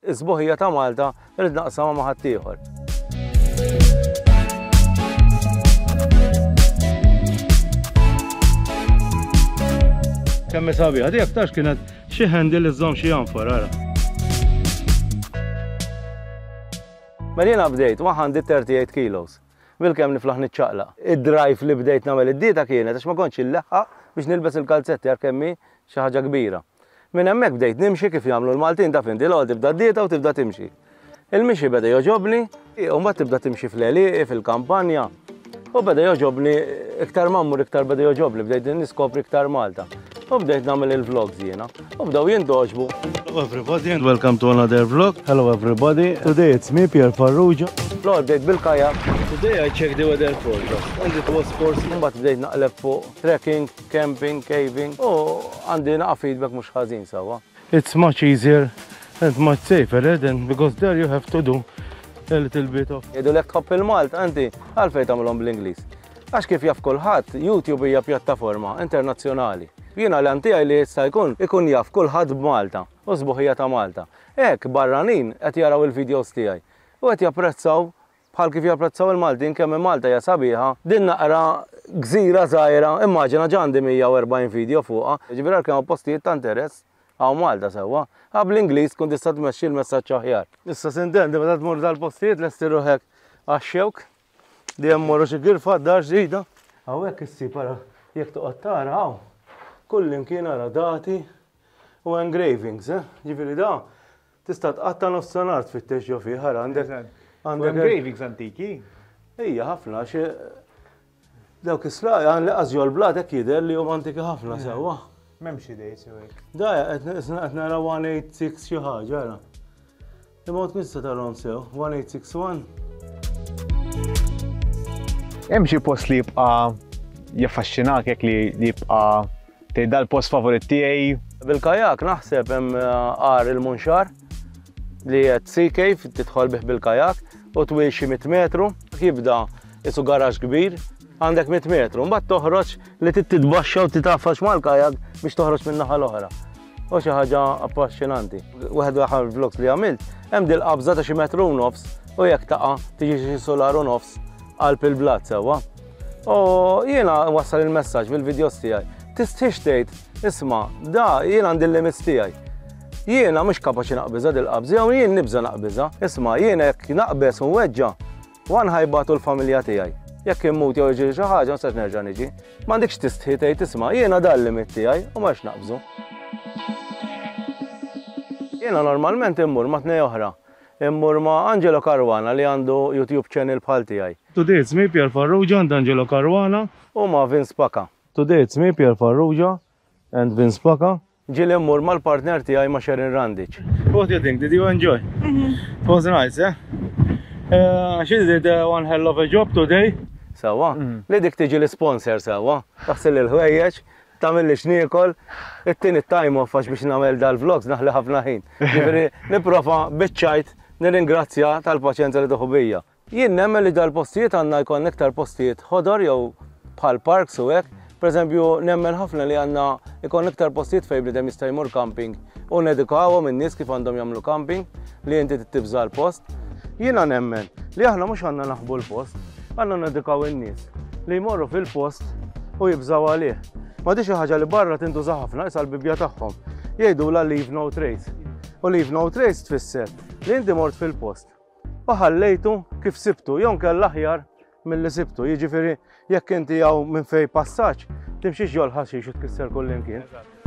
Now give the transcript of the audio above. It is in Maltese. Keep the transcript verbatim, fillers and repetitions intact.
Is-sbuħija ta' Malta rrid naqsamha ma' ħaddieħor. Kemm sabiħa, di aktarx kienet xi handle li żżomm xi anfor, ara. Mela jiena bdejt one hundred thirty-eight kilos. Bil-kemm niflaħ niċċaqlaq. Id-drive li bdejt nagħmel id-dieta kienet għax ma kontx illeħħaq biex nilbes il-kalzetti għar kemmi xi ħaġa kbira. Minn hemmhekk bdejt nimxi kif jagħmlu l-Maltin, taf inti, l tibda d-dieta u tibda timxi. Il-mixi beda jogħġobni, u mbagħad tibda timxi fl-għelieqi, fil-kampanja. U beda jogħġobni, iktar ma mmur iktar beda jogħġobni, bdejt niskopri iktar Malta. U bdejt nagħmel il-vlogs jiena. U bdew jintgħoġbu. Hello everybody and welcome to another vlog. Hello everybody. Today it's me, Pierre Farrugia. L bdejt bil-kajak, Today I checked the weather forecast and it was four mbagħad bdejt naqleb fuq trekking, camping, caving u għandi naqa feedback mhux ħażin sewwa. It's much easier and much safer, eh, than because there you have to do a little bit of Jgħidu tħobb il-Malta, inti għalfejn tagħmilhom bl-Ingliż? Għax kif jaf kulħadd, YouTube hija pjattaforma internazzjonali. Jiena l tiegħi li jista' jkun ikun jaf kulħadd b'Malta u sbuħija ta' Malta. Hekk barranin qed jaraw il-videos tiegħi u qed japprezzaw bħal kif japprezzaw il-Maltin kemm Malta hija sabiħa. Din naqra gżira żgħira, immaġina ġa għandi mija u erbgħin video fuqha, ġifieri kemm postijiet ta' interess hawn Malta sewwa. Għax bl-Ingliż kun tista' tmexxi l-messaġġ aħjar. Issa s'intendi meta tmur dal-postijiet lesti ruħek għax-xewk, dejjem morru xi girfa d-dar ġdida. Hawnhekk issib, ara, jekk toqgħod tara hawn. Kull imkien ara dati u engravings, eh? Ġifieri da tista' tqatta' nofs nhar tfittex ġo fih, ara għandek għandek engravings antiki. Ija, ħafna, xi dawk is-sla għan li qas l-blat hekk jidher li huma antiki ħafna sewwa. M'hemmx idejt jew hekk. Da qed nara one eight six xi ħaġa, ara. Imma ma tista' tarahom sew, one eight six one. Hemm xi post li jibqa' jaffaxxinak hekk li li jibqa' tgħid dal-post favorit tiegħi? Bil-kajak naħseb hemm Għar il-Munxar li qed sea cave tidħol bih bil-kajak u twil xi mitt metru, jibda isu garaġ kbir, għandek mitt metru, mbagħad toħroġ li trid titbaxxa u titafax mal-kajak biex toħroġ minn naħa l-oħra. U xi ħaġa affaxxinanti. Wieħed l-aħħar vlogs li għamilt, hemm dil qabża ta' xi metru u nofs u jekk taqa' tiġi xi solar u nofs qalb il-blat sewwa. U jiena wassal il-messaġġ bil-videos tiegħi. Tistħix tgħid, isma', da jiena għandi l-limits tiegħi. Jiena mhux kapaċi naqbiża dil-qabża, jew jien nibża naqbiża. Isma', jiena jekk naqbeż u nweġġa, wan ħa jbatu l-familja tiegħi. Jekk immut jew jiġri xi ħaġa, ma nistax nerġa' niġi. M'għandekx tistħi tgħid, isma', jiena dan limit tiegħi u mhux naqbżu. Jiena normalment immur ma' tnej oħra. Immur ma' Angelo Caruana li għandu YouTube channel bħal tiegħi. Today it's me, Pierre Farrugia and Angelo Caruana. U ma' Vince Paka. Today it's me, Pierre Farrugia and Vince Paka. Ġieli mmur mal-partner tiegħi, ma' Sharon Randic. What do you think? Did you enjoy? It was nice, eh? Uh, she did uh, one hell of a job today. Sewwa, li dik tiġi l-sponsor sewwa, taħsil il-ħwejjeġ, tagħmel li x'niekol, it-tieni time off għax biex nagħmel dal-vlogs naħli ħafna ħin. Ġifieri nipprova biċ-ċajt nirringrazzja tal-paċenza li tieħu bija. Jien nemmen li dal-postijiet għandna jkun iktar postijiet ħodor jew bħal parks u hekk. Per eżempju, nemmen ħafna li għandna ikun iktar postijiet fejn bniedem jista' jmur camping u nedukawhom in-nies kif għandhom jagħmlu camping li inti tibża l-post. Jiena nemmen li aħna mhux għandna naħbu l-post, għandna nedukaw in-nies li jmorru fil-post u jibżaw għalih. Ma di xi ħaġa li barra tintuża ħafna, issa l-bibja tagħhom. Jgħidu la leave no trace. U leave no trace tfisser li inti mort fil-post u ħallejtu kif sibtu, jew kell aħjar mill-li sibtu. Jiġifieri jekk inti hawn minn fej passaġġ, timxiex ġol ħaxix u tkisser kull imkien.